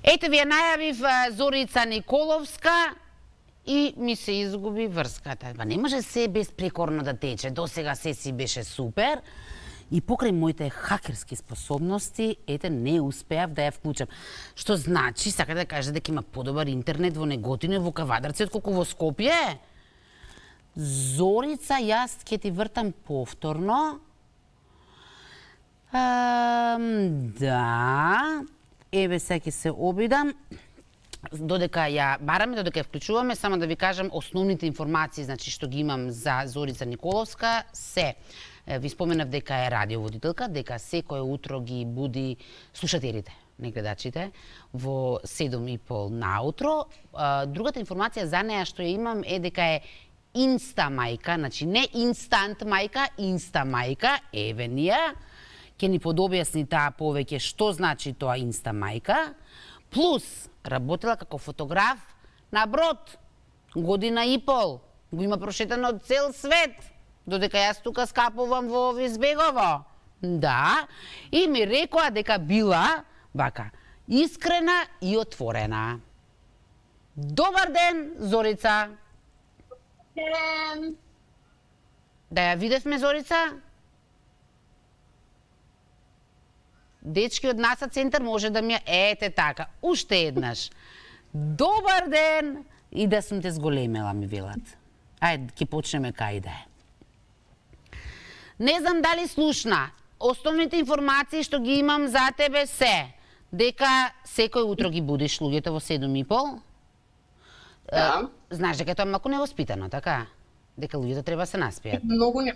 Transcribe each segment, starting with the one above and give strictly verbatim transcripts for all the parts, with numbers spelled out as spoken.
Ете ви ја најавив Зорица Николовска и ми се изгуби врската. Ба не може се безпрекорно да тече. До сега се си беше супер. И покрај моите хакерски способности, ете, не успеав да ја вклучам. Што значи, сака да каже дека има подобар интернет во Неготино и во Кавадарци отколку во Скопје? Зорица, јас ќе ти вртам повторно. Ам, да, еве сега ќе се обидам. Додека ја бараме, додека ја вклучуваме, само да ви кажам основните информации, значи што ги имам за Зорица Николовска, се. Ви споменав дека е радиоводителка, дека секое утро ги буди слушателите, не гледачите, во седум и пол наутро. Другата информација за неја што ја имам е дека е инста мајка, значи не инстант мајка, инста мајка, еве ние. Ќе ни подобјасни таа повеќе што значи тоа инста мајка. Плюс, работела како фотограф на брод, година и пол. Го има прошетано цел свет. Додека јас тука скапувам во Визбегово. Да, и ми рекоа дека била, вака, искрена и отворена. Добар ден, Зорица. Ден. Да ја видевме, Зорица? Дечки од НАСА центар може да ми ја... Ете така, уште еднаш. Добар ден! И да сум те зголемела, ми велат. Ајде, ќе почнеме кај да е. Не знам дали слушна. Основните информации што ги имам за тебе се дека секој утро ги будиш луѓето во седум и пол. Да. Знаеш дека тоа е малку невоспитано, така? Дека луѓето треба се наспијат. Многу не.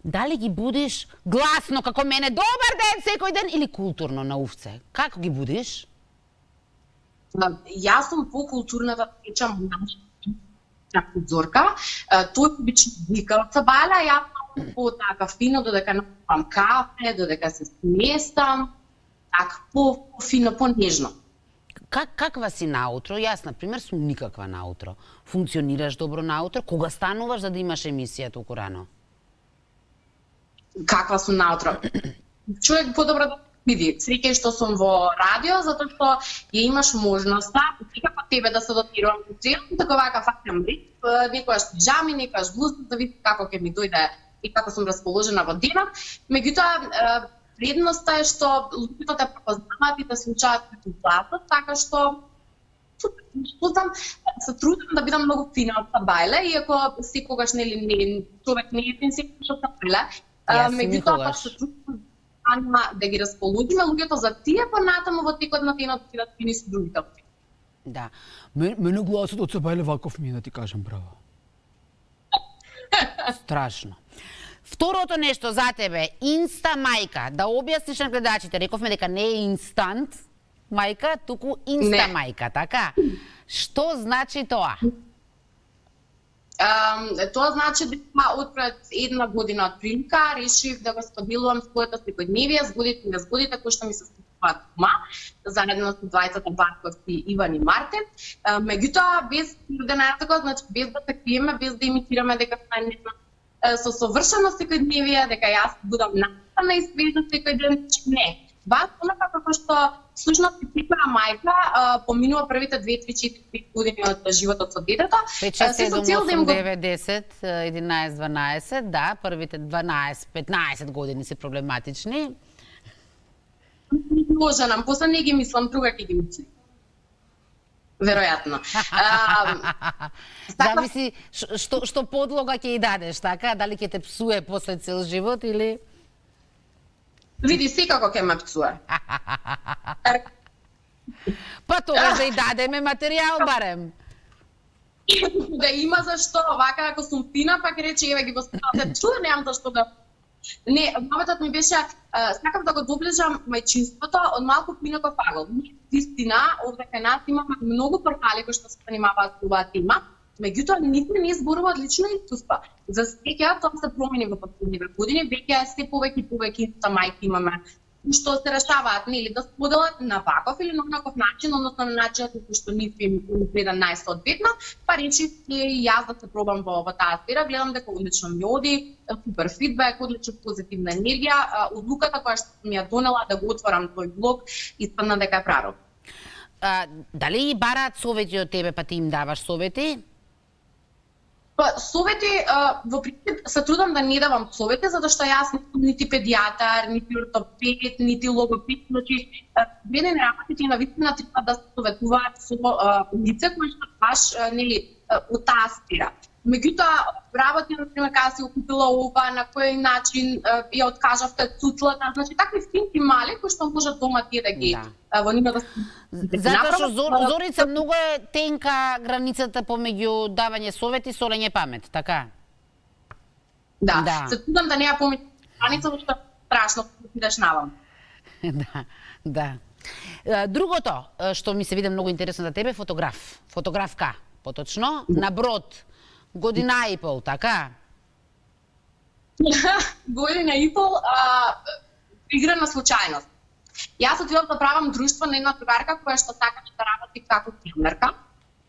Дали ги будиш гласно како мене, добар ден секој ден, или културно на увце? Како ги будиш? Јас сум по-културна да течам како Зорка. Тој обично вика од Сабајла, јас сум по-така фино, додека напивам кафе, додека се сместам, така по-фино, по-нежно. Как, каква си наутро? Јас, например, сум никаква наутро. Функционираш добро наутро? Кога стануваш за да имаш емисија толку рано? Каква сум наутро? Човек подобро да види. Среќа што сум во радио, затоа што ја имаш можноста, како тебе да се дотирувам во цело, така вака фаќам ритм, некојаш пижами, некојаш блуза, да види како ќе ми дојде и како сум расположена во денот. Меѓутоа, предноста е што луѓето те препознаваат и да се учат како гласот, така што сум се трудам да бидам многу фина од Сабајле, иако секогаш нели не човек не е фин секогаш од Сабајле. Меѓутоа пак се трудам да ги расположиме луѓето за тие понатаму во текот на денот да фини со другите. Да. Мене гласот од Сабајле ваков ми е, да ти кажам право. Страшно. Второто нешто за тебе, инста мајка, да објасниш на гледачите, рековме дека не е инстант мајка, туку инста не. Мајка, така? Што значи тоа? Um, тоа значи дека од пред една година од прилика решив да го споделувам своето секојдневие, згодите и незгодите кои што ми се случуваат дома, заедно со двајцата Барковски, Иван и Мартин. Uh, меѓутоа, без денарата, значи без да се криеме, без да имитираме дека сме со совршено секојдневие, дека јас будам наставна и свежа секој ден, не. Вас, онака како што слушнат и секоја мајка поминува првите две, три, четири, пет години од животот со детето. пет, шест, седум, осум, девет, десет, единаесет, дванаесет, да, првите дванаесет, петнаесет години се проблематични. Може нам, после не ги мислам, друга ќе ги мислам. Веројатно. Зависи што што подлога ќе ја дадеш, така? Дали ќе те псуе после цел живот или види, секако ќе ме пцуе. Па тогаш да и дадеме материјал барем. Да има зашто, вака ако сум фина, пак рече, еве ги воспитавате, чуе, немам зашто да... Не, моветот ми беше, сакам да го доближам мајчинството од малку пинако фагол. Вистина, овде кај нас имаме многу портали кои што се занимаваат со оваа тема, меѓутоа никој не зборува од лично искуство. За среќа тоа се промени во последниве години, веќе се повеќе и повеќе инста мајки имаме што се решаваат, нели, да споделат на ваков или на онаков начин, односно на начинот на кој што нив им гледа најсоодветно, па речи и јас да се пробам во, во таа сфера, гледам дека одлично ми оди, супер фидбек, одлично позитивна енергија, одлуката која што ми ја донела да го отворам тој блог, испадна дека е правилно. А, дали бараат совети од тебе, па ти им даваш совети? Па, совети, во принцип, се трудам да не давам совети, затоа што јас не сум нити педијатар, нити ортопед, нити логопед, значи, вреден работите на вистина треба да се советуваат со лице кои што баш, нели, од таа сфера. Меѓутоа, работи, например, кога си окупила ова, на кој начин ја откажавте цуцлата, значи, такви финки мали кои што можат дома тие да ги да. во нива да Затоа што Зор, Зорица многу е тенка границата помеѓу давање совети и солење памет, така? Да, да. се трудам да не ја помеѓу граница, што страшно идеш навам. Да, да. Другото што ми се виде многу интересно за тебе, фотограф, фотографка, поточно, на брод. Година и пол, така? Година и пол, а, игра на случајност. Јас отидов да правам друштво на една другарка која што сакаше да работи како филмерка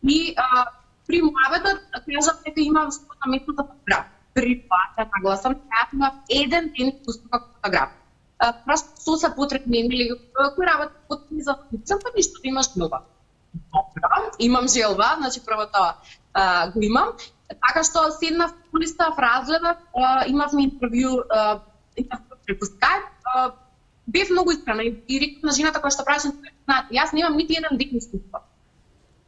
и а, при муабетот кажав дека имам на место за фотограф. При това се нагласам, јас имав еден ден искуство како фотограф. Просто со се потребни, нели, кој работи потребни за фотограф, па ништо да имаш нова. Добро, имам желба, значи прво тоа а, го имам. Така што седнав, полистав, разгледав, имавме интервју, интервју преку Skype, бев многу искрена и реков на жената која што прашам, знаете, јас немам нити еден ден искуство.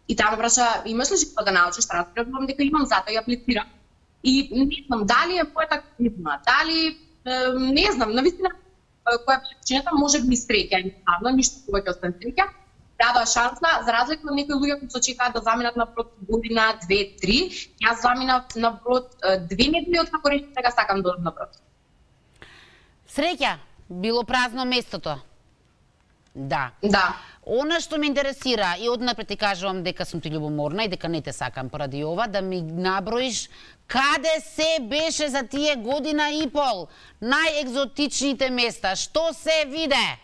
И таа ме праша, имаш ли желба да научиш? Разбирам дека имам, затоа ја аплицирам. И не знам дали е мојата кризма, дали не знам, навистина која причината може би среќа, едноставно, ништо повеќе освен среќа. Дадоа шанса, за разлика од некои луѓе кои се очекуваат да заминат на брод година, две, три, јас заминав на брод две недели од како решив дека сакам да одам на брод. Среќа, било празно местото. Да. Да. Она што ме интересира, и однапред ти кажувам дека сум ти љубоморна и дека не те сакам поради ова, да ми наброиш каде се беше за тие година и пол, најекзотичните места, што се виде?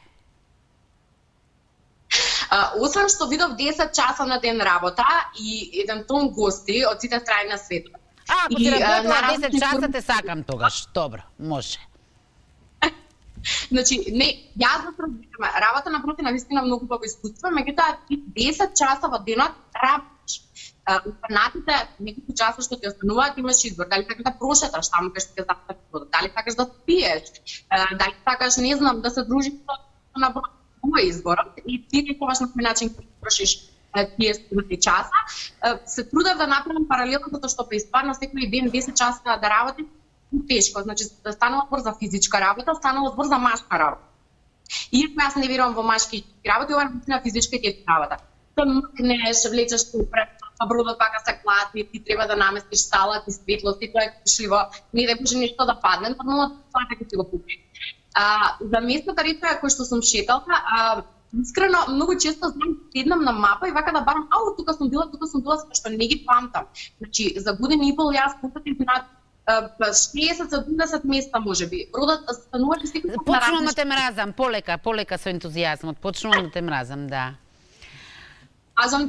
Uh, освен што видов десет часа на ден работа и еден тон гости од сите страни на светот. А, ако ти работела десет часа, те сакам тогаш. Добро, може. Значи, не, јас да се разбираме, работа на брод е навистина многу убаво искуство, меѓутоа ти десет часа во денот работиш. Останатите неколку часа што ти остануваат имаш избор, дали сакаш да прошеташ таму кај што ќе запатиш бродот, дали сакаш да спиеш, дали сакаш, не знам, да се дружиш на брод. Тоа е изборот и ти некогаш на кој начин ќе трошиш тие стотини часа. Се трудев да направам паралелно затоа што преиспадна секој ден десет часа да работи тешко, значи да станува збор за физичка работа, станува збор за машка работа. Иако јас не верувам во машки работи, ова е на физичка и тешка работа. Се мркнеш, влечеш попред, а бродот пака се клатни, ти треба да наместиш салат и светлост и тоа е кушливо, не да може нешто да падне, нормално тоа дека ти го пупи. А, за местната река кој што сум шеталка, а, искрено многу често знам седнам на мапа и вака да барам, ау, тука сум била, тука сум била, што не ги памтам. Значи, за година и пол јас путатив над шеесет до седумдесет места можеби. Бродот стануваше секој пат на различни. Почнувам да те мразам, полека, полека со ентузијазмот, почнувам да те мразам, да. А за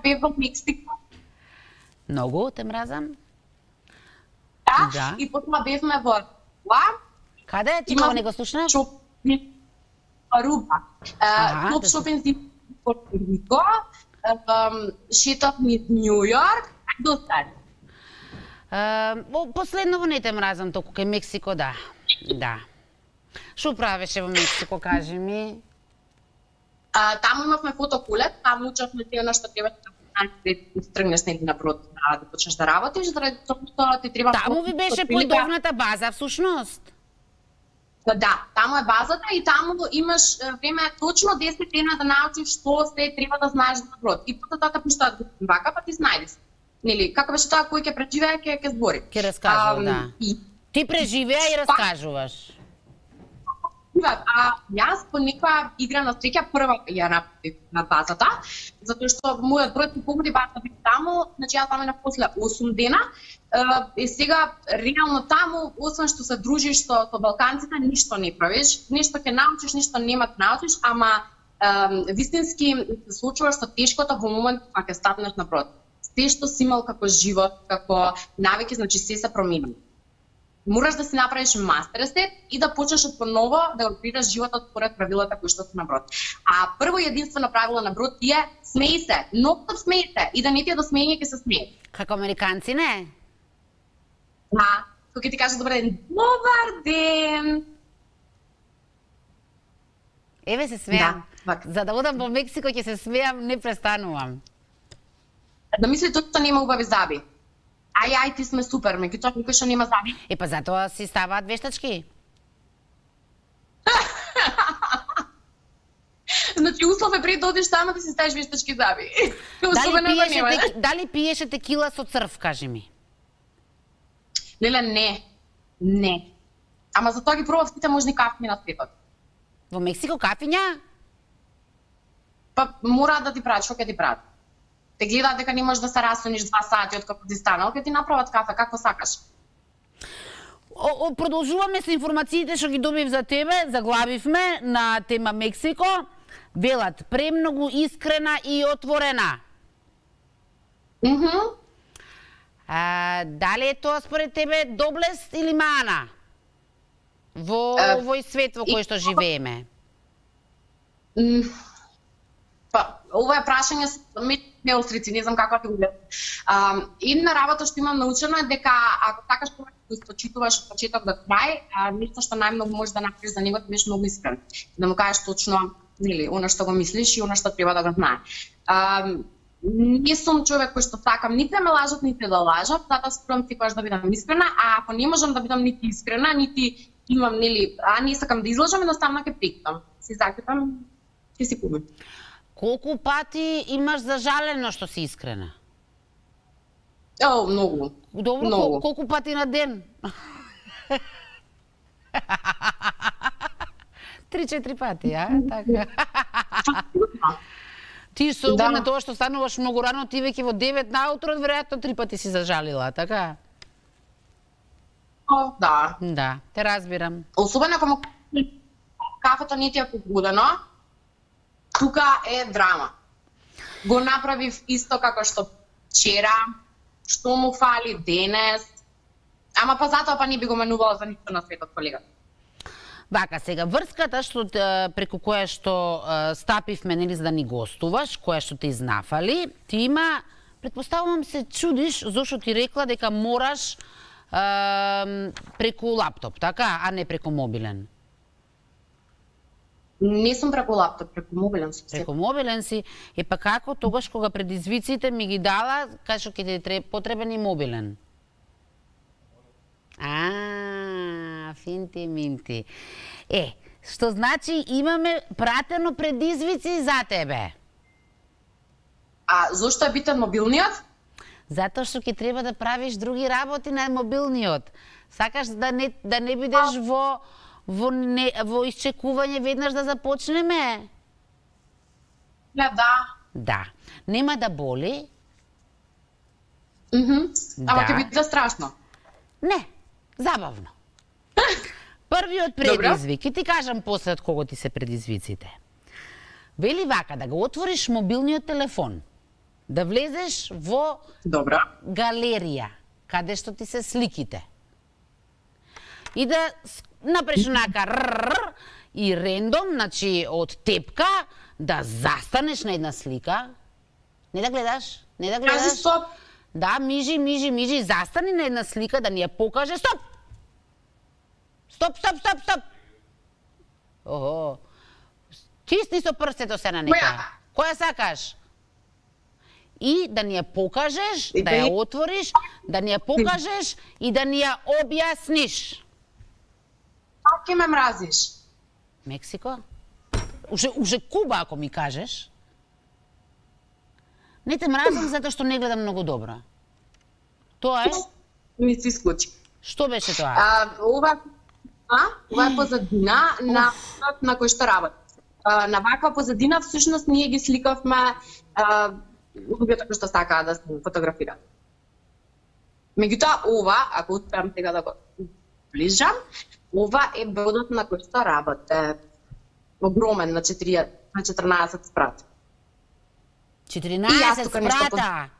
бев во Мексико. Многу те мразам? Да, да. И потоа бевме во Руба. Каде? Ти кога не го слушнав? Руба. Топ шопинг во Рико, шетав низ Њу Јорк, до сега. Последново не те мразам толку, кај Мексико, да. Да. Шо правеше во Мексико, кажи ми? А, таму имавме фотокулет, таму учевме тие на што треба да тргнеш негде на брод да, да почнеш да работиш, заради тоа што ти треба. Таму ви беше појдовната база всушност. Да, таму е базата и таму имаш време точно десет дена да научиш што се треба да знаеш за брод. И потоа тоа пуштаат го вака, па ти знаеш. Нели, како беше тоа кој ќе преживее, ќе ќе збори. Ќе раскажува, да. И... Ти преживеа и раскажуваш. А јас по некоја игра на среќа прва ја направив на базата, затоа што мојот број по погоди баш да бив таму, значи јас таму на после осум дена. И сега реално таму, освен што се дружиш со, со балканците, ништо не правиш, нешто ќе научиш, ништо нема да научиш, ама е, вистински се случува што тешкото во момент кога ќе стапнеш на брод. Се што си имал како живот, како навики, значи се се промени. Мораш да си направиш мастерсет и да почнеш од поново да го крираш животот според правилата кои што се на брод. А прво и единствено правило на брод ти е смеј се, ноктот смеј се и да не ти е до смеење ќе се смее. Како американци, не? Да, кога ти кажа добар ден, добар ден. Еве се смеам. Да, За да одам во Мексико ќе се смеам, не престанувам. Да мисли тоа што нема убави заби. Ај, ај, ти сме супер, меѓутоа никој што нема заби. Е, па затоа си ставаат вештачки. Значи, услов е пред да одиш тама да си ставиш вештачки заби. Дали пиеше, тек, дали пиеше текила со црв, кажи ми? Леле, не. Не. Ама затоа ги пробав сите можни кафи на светот. Во Мексико кафиња? Па мораат да ти прават, што ќе ти прават? Те гледаат дека не можеш да се расониш два сати од како ти станал, ќе ти направат кафе како сакаш. О, о, продолжуваме со информациите што ги добив за тебе, заглавивме на тема Мексико. Велат премногу искрена и отворена. Мхм. Mm-hmm. А, дали е тоа според тебе доблест или мана? Во uh, овој свет во кој што живееме. Mm, па, ова е прашање ме острици, не знам како ти го гледам. Uh, една работа што имам научено е дека ако сакаш повеќе да источитуваш од почеток до крај, нешто што најмногу можеш да направиш за него, да бидеш многу искрен. Да му кажеш точно, нели, она што го мислиш и она што треба да го знае. Uh, Не сум човек кој што сакам нити да ме лажат, нити да лажат, затоа спорам секогаш да бидам искрена, а ако не можам да бидам нити искрена, нити имам, нели, а не сакам да излажам, едноставно ќе прекитам. Си закитам, ќе си купам. Колку пати имаш зажалено што си искрена? О, многу. Добро, многу. Кол, колку пати на ден? Три-четири пати, а? Така. Ти со оглед на тоа што стануваш многу рано, ти веќе во девет наутро, веројатно три пати си зажалила, така? О, да. Да, те разбирам. Особено ако кафето не ти е погудено, тука е драма. Го направив исто како што вчера, што му фали денес, ама па затоа па не би го менувала за ништо на светот, колега. Вака, сега, врската што преку која што стапивме, нели, за да ни гостуваш, која што те изнафали, ти има, предпоставувам се чудиш зошто ти рекла дека мораш е, преку лаптоп, така, а не преку мобилен. Не сум преку лаптоп, преку мобилен сум. Преку мобилен си, е па како тогаш кога предизвиците ми ги дала, кај што ќе ти потребен и мобилен? А, финти минти. Е, што значи имаме пратено предизвици за тебе? А зошто е битен мобилниот? Затоа што ќе треба да правиш други работи на мобилниот. Сакаш да не да не бидеш а... во во не, во исчекување веднаш да започнеме? Не, да. Да. Нема да боли? Мхм. Ама да. ќе биде страшно. Не. Забавно. Првиот предизвик, и ти кажам после од кого ти се предизвиците. Вели вака, да го отвориш мобилниот телефон, да влезеш во Добра. галерија, каде што ти се сликите. И да напреш онака рррр, и рендом, значи од тепка, да застанеш на една слика. Не да гледаш, не да гледаш. Кажи стоп. Да, мижи, мижи, мижи, застани на една слика да ни ја покаже. Стоп! Стоп, стоп, стоп, стоп! Охо. Тисни со прстето се на некоја. Која сакаш? И да ни ја покажеш, да ја отвориш, да ни ја покажеш и да ни ја објасниш. Како ме мразиш? Мексико? Уже, уже Куба, ако ми кажеш. Не те мразам затоа што не гледам многу добро. Тоа е? Ми се исклучи. Што беше тоа? А, ова ова е позадина на на кој што работи. На ваква позадина всушност ние ги сликавме луѓето кои што сакаат да се фотографираат. Меѓутоа ова, ако успеам сега да го ближам, ова е бродот на кој што работи. Огромен, на четирнаесет спрата. четирнаесет спрата?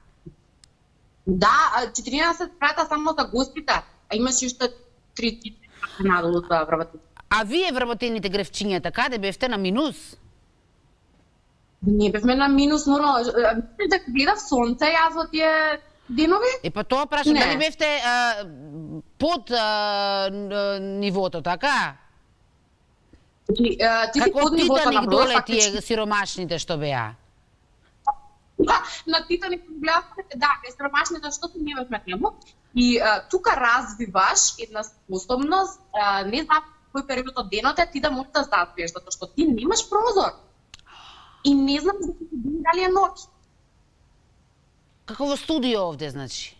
Да, четирнаесет спрата само за гостите, а имаш уште три надолу за вработените. А вие вработените грефчињата, каде бевте, на минус? Не бевме на минус, нормално. Да гледав сонце јас во тие денови. Е, па тоа прашам, дали бевте а, под а, нивото, така? Ти, а, ти како под нивото Титаник на доле брод, тие сиромашните што беа? Да, на Титаник гледавте, да, бе сиромашните што ти не бевме таму. И а, тука развиваш една способност, а, не знам кој период од денот е ти да можеш да заспиеш, затоа што ти немаш прозор. И не знам дали е ноќ. Како во студио овде, значи?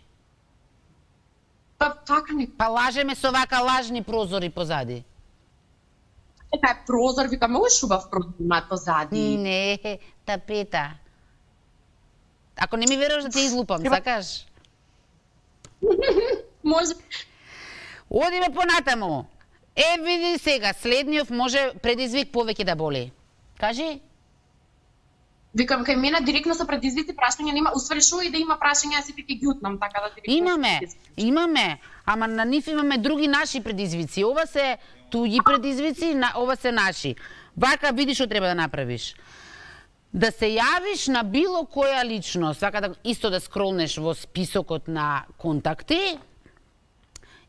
Па така не. Па лажеме со вака лажни прозори позади. Така е прозор, вика, многу шубав прозор имаат позади. Не, тапета. Ако не ми веруваш да те излупам, сакаш? Може. Одиме понатаму. Е, види сега, следниот може предизвик повеќе да боли. Кажи? Викам, кај мене директно со предизвици прашања нема, усвари шо и да има прашања, јас сите ќе ги утнам, така да директно... Имаме, имаме, ама на нив имаме други наши предизвици. Ова се туѓи предизвици, ова се наши. Вака, видиш што треба да направиш. Да се јавиш на било која личност, вака да исто да скролнеш во списокот на контакти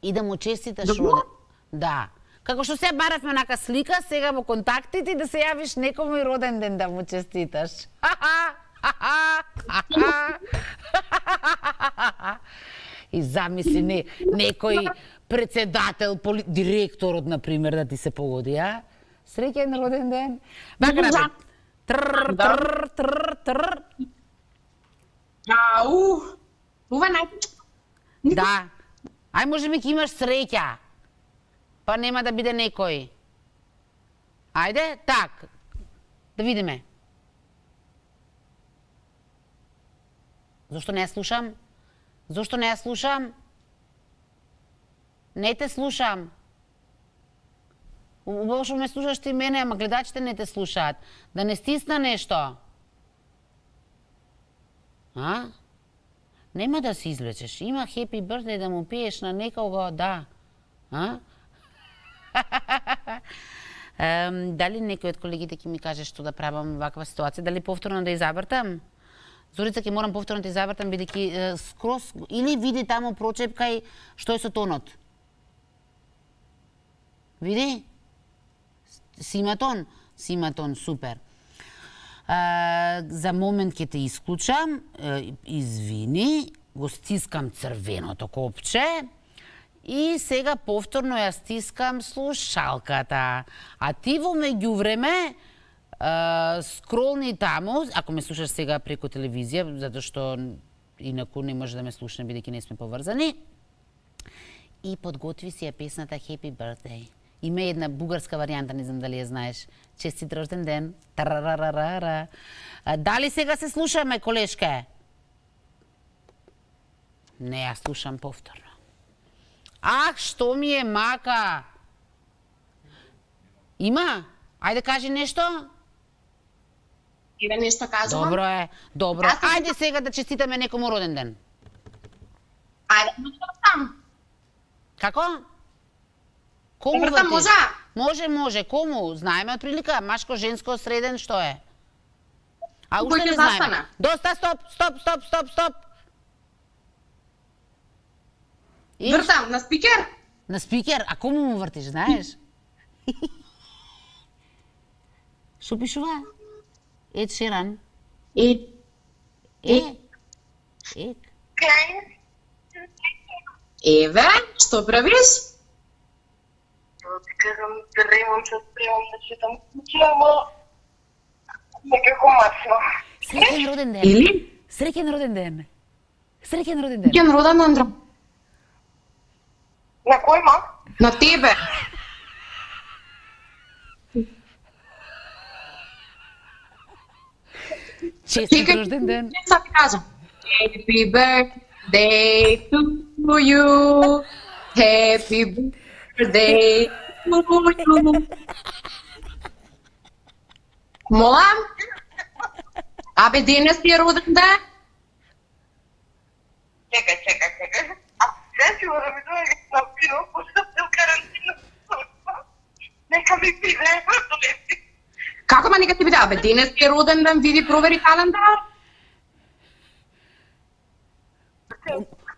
и да му честиташ роден. Да. Како што се баравме нака слика, сега во контактите и да се јавиш некому и роден ден да му честиташ. И замисли не, некој председател, поли... директорот, например, да ти се погоди, а? Среќен роден ден. Вака напред. Трр, трр, трр, трр. Ау, ова најпочка. Да. Ај, може би ќе имаш среќа. Па нема да биде некој. Ајде, так. Да видиме. Зошто не ја слушам? Зошто не ја слушам? Не те слушам. Убаво што ме слушаш ти мене, ама гледачите не те слушаат. Да не стисна нешто. А? Нема да се извлечеш. Има happy birthday да му пиеш на некого, да. А? Um, дали некој од колегите ќе ми каже што да правам во ваква ситуација? Дали повторно да изабртам? Зорица, ќе морам повторно да изабртам, бидејќи uh, скрос... Или види таму прочепкај што е со тонот. Види? Сима тон? Сима тон, супер. Uh, за момент ќе те исклучам, uh, извини, го стискам црвеното копче, и сега повторно ја стискам слушалката. А ти во меѓувреме скролни таму, ако ме слушаш сега преку телевизија, затоа што инаку не може да ме слушне бидејќи не сме поврзани, и подготви си ја песната Happy Birthday. Има една бугарска варијанта, не знам дали ја знаеш. Честит рожден ден. Тарарарарара. Дали сега се слушаме, колешке? Не ја слушам повторно. Ах, што ми е мака? Има? Ајде кажи нешто? Еве нешто кажувам. Добро е, добро. Ајде сега да честитаме некому роден ден. Ајде, да сам. Како? Кому вртам, може? Може, може. Кому? Знаеме од прилика? Машко, женско, среден, што е? А уште Кој не ќе знаеме. застане? Доста, стоп, стоп, стоп, стоп, стоп. И... Вртам, на спикер? На спикер? А кому му вртиш, знаеш? Што пишува? Ед Шеран. Е. Е. Е. Еве, што правиш? Кажам, ремам се спремам да читам куќи, ама некако мацно. Среќен роден ден. Или? Среќен роден ден. Среќен роден ден. Кен роден Андра. На кој ма? На тебе. Честит рожден ден. Сега ти кажам. Happy birthday to you. Happy birthday to you. Мола? Абе, денес ти е роден ден? Чекај, чекај, чекај. А не си мора ми дојде на пиво, пошто сум карантина. Нека ми пиде, просто не си. Како ма нека ти биде? Абе, денес ти е роден ден, види, провери календар.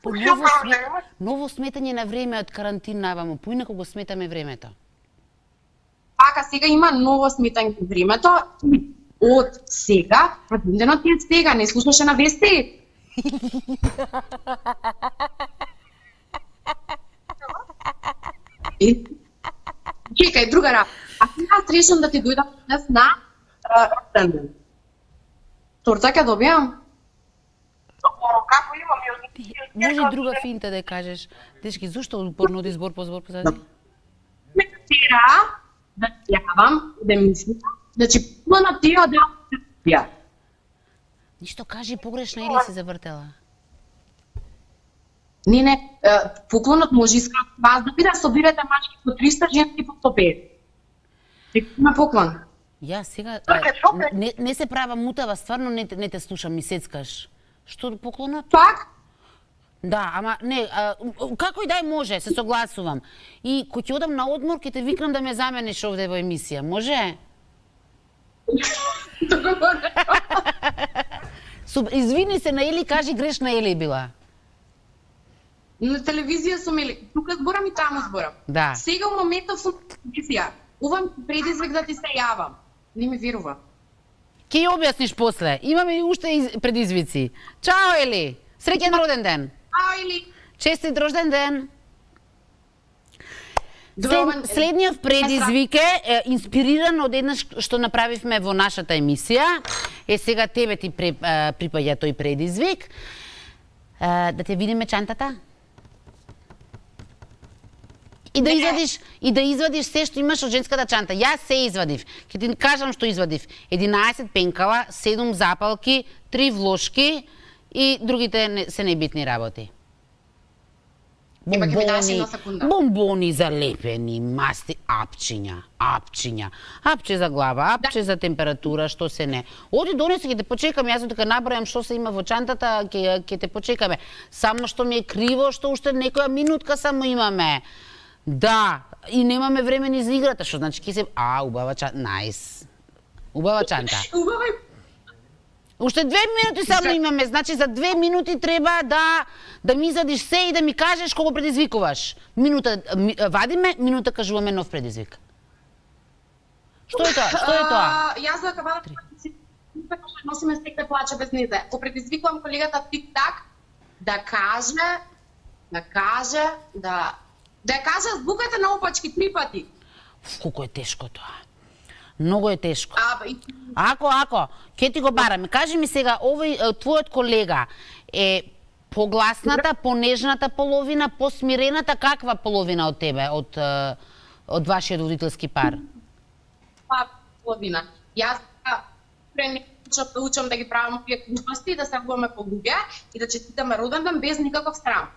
По ново, смет... ново сметање на време од карантина, авамо, поинако го сметаме времето. Пака сега има ново сметање на времето. Од сега, роденденот ти е сега, не слушаше на вести? И... Чекај, друга работа. А сега решам да ти дојдам днес на роден ден. Торта ќе добијам? Како имам јас? Може и друга финта да ја кажеш. Дечки, зошто упорно оди збор по збор позади? Ме тера да јавам, да мислам, значи плана тие да ја. Ништо кажи погрешно или се завртела? Не, не, е, поклонот може иска вас да биде, собирате мачки по триста, женски по сто петдесет. Има поклон. Ја сега Така, што а, не, не се права мутава, стварно не, те- не те слушам, ми сецкаш. Што поклонот? Пак? Да, ама не, а, како и дај може, се согласувам. И кој ќе одам на одмор, ќе те викнам да ме замениш овде во емисија, може? Договорено. Суб, извини се на Ели, кажи грешна Ели била. На телевизија сум или тука зборам и таму зборам. Да. Сега во моментов сум на телевизија. Ова ми предизвик да ти се јавам. Не ми верува. Ке ја објасниш после. Имаме и уште из- предизвици. Чао Ели, среќен роден ден. А или Честит рожден ден. Добар След, следниот предизвик е, е инспириран од еднаш што направивме во нашата емисија. Е сега тебе ти при, а, припаѓа тој предизвик. А, да те видиме чантата? И да Не. извадиш и да извадиш се што имаш од женската чанта. Јас се извадив. Ќе ти кажам што извадив. единаесет пенкала, седум запалки, три влошки и другите не, се небитни работи. Ема ќе ми даш една секунда. бомбони залепени, масти, апчиња, апчиња. Апче за глава, апче за температура, што се не. Оди донеси, ќе те почекам, јас дека набрајам што се има во чантата, ќе ќе те почекаме. Само што ми е криво што уште некоја минутка само имаме. Да, и немаме време ни за играта, што значи ќе се а убава чанта, најс. Убава чанта. Убава и Уште две минути само имаме, значи за две минути треба да да ми извадиш се и да ми кажеш кого предизвикуваш. Минута ми, вадиме, минута кажуваме нов предизвик. Што е тоа? Што е тоа? А, Јас за кабана така што носиме стек да плаче без незе. Го предизвикувам колегата Тик-так да каже, да каже, да да ја каже збуката на опачки три пати. Ф, колку е тешко тоа. Многу е тешко. А, и... Ако, ако, ќе ти го бараме. Кажи ми сега, овој е, твојот колега е погласната, понежната половина, посмирената, каква половина од тебе, од, е, од вашиот водителски пар? па половина. Јас прени почнав да учам да ги правам овие глупости, да се влуваме по луѓе и да честитаме роден ден без никаков срам.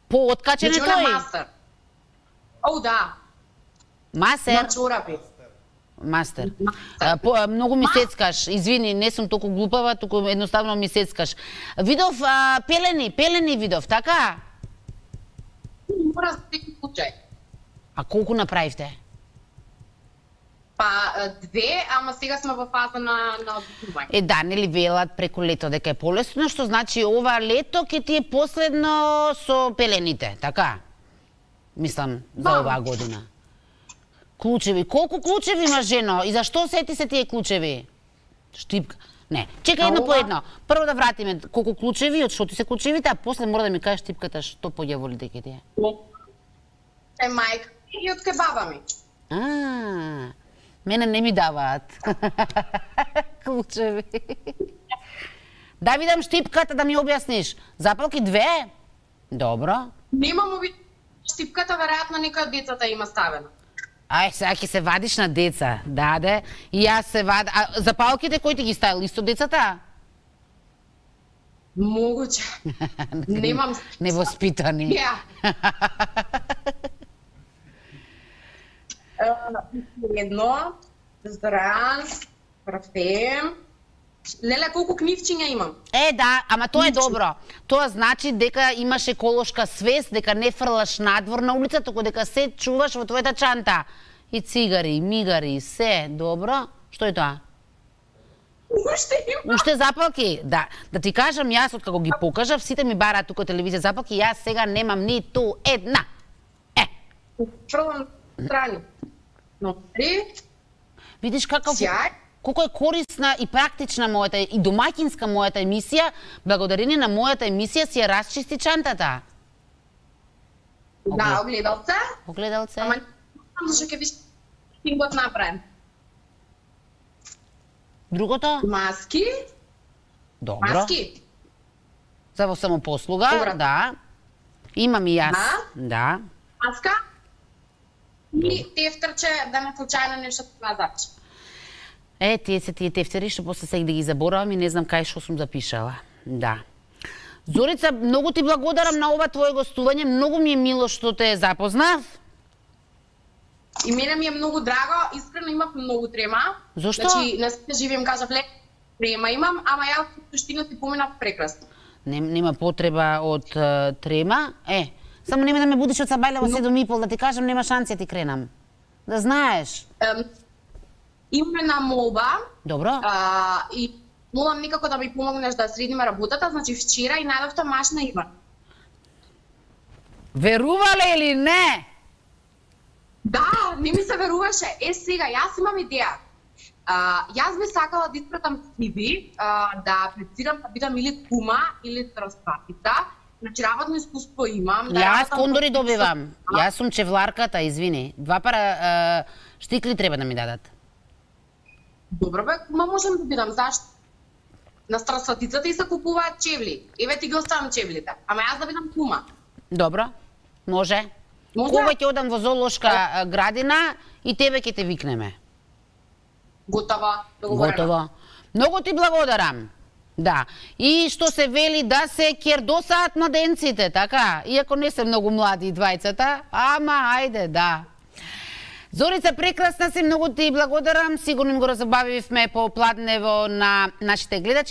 По откачен е Значи, он е тој? мастер. О, да. Масер? На чорапи. Мастер. Мастер. А, по, а, многу ми сецкаш. Извини, не сум толку глупава, туку едноставно ми сецкаш. Видов а, пелени, пелени видов, така? Мора за секој случај. А колку направивте? Па две, ама сега сме во фаза на на обикнување. Е, да, нели велат преку лето дека е полесно, што значи ова лето ќе ти е последно со пелените, така? Мислам, за Да. оваа година. Клучеви, колку клучеви имаш, жено? И зашто сети се тие клучеви? Штипка. Не, чекај едно Ова- по едно. Прво да вратиме колку клучеви, од што ти се клучевите, а после мора да ми кажеш штипката што поѓаволите ќе ти е. Е мајка и од кај баба ми. А, мене не ми даваат клучеви. Да видам штипката да ми објасниш. Запалки две? Добро. Немам оби штипката, веројатно некој од децата има ставена. Ај, сега ќе се вадиш на деца. Да, де. И јас се вад... А запалките кои ти ги ставил? Исто децата? Могуче. Немам... Невоспитани. Ја. Едно, дезодоранс, парфем. Леле, колку книвчиња имам? Е, да, ама тоа е добро. Тоа значи дека имаш еколошка свест, дека не фрлаш надвор на улица, туку дека се чуваш во твојата чанта. И цигари, и мигари, се. Добро? Што е тоа? Уште имам. Уште запалки? Да. Да ти кажам, јас откако ги покажав, сите ми бараат тука телевизија запалки, јас сега немам ниту една. Е. Фрлам страни. Но три. Видиш каков... Сјај. Колко е корисна и практична мојата и домаќинска мојата емисија, благодарение на мојата емисија си ја расчисти чантата. Да, огледалце. Огледалце. Ама не знам зашто ќе виш тингот направен. Другото? Маски. Добро. Маски. За во самопослуга, Добро. да. Имам и јас. Да. Да. Маска. И тефтерче да не случајно нешто на запиш. Е, тие се тие тефтери што после сега да ги заборавам и не знам кај што сум запишала. Да. Зорица, многу ти благодарам на ова твое гостување, многу ми е мило што те запознав. И мене ми е многу драго, искрено имав многу трема. Зошто? Значи, не се живеем, кажав, лек трема имам, ама ја во суштина ти поминав прекрасно. Не, нема потреба од е, трема. Е, само нема да ме будиш од Сабајле во седум и пол, да ти кажам, нема шанси ти кренам. Да знаеш. Ем, имаме на молба. Добро. А, и молам никако да ми помогнеш да средиме работата, значи вчера и најдовте машина има. Верувале или не? Да, не ми се веруваше. Е, сега, јас имам идеја. А, јас би сакала да испратам сиви, а, да аплицирам да бидам или кума, или транспатица. Значи, работно искуство имам. Да Јас работам кондори со- добивам. Јас сум чевларката, извини. Два пара е, штикли треба да ми дадат. Добро бе, кума можам да бидам, зашто? На транспатицата и се купуваат чевли. Еве ти ги оставам чевлите. Ама јас да бидам кума. Добро? Може? Може? Кога ќе одам во зоолошка е, градина и тебе ќе те викнеме. Готово, договорено. Готово. Многу ти благодарам. Да. И што се вели да се кердосаат младенците, така? Иако не се многу млади двајцата, ама ајде, да. Зорица, прекрасна си, многу ти благодарам. Сигурно им го разобавивме по пладнево на нашите гледачи.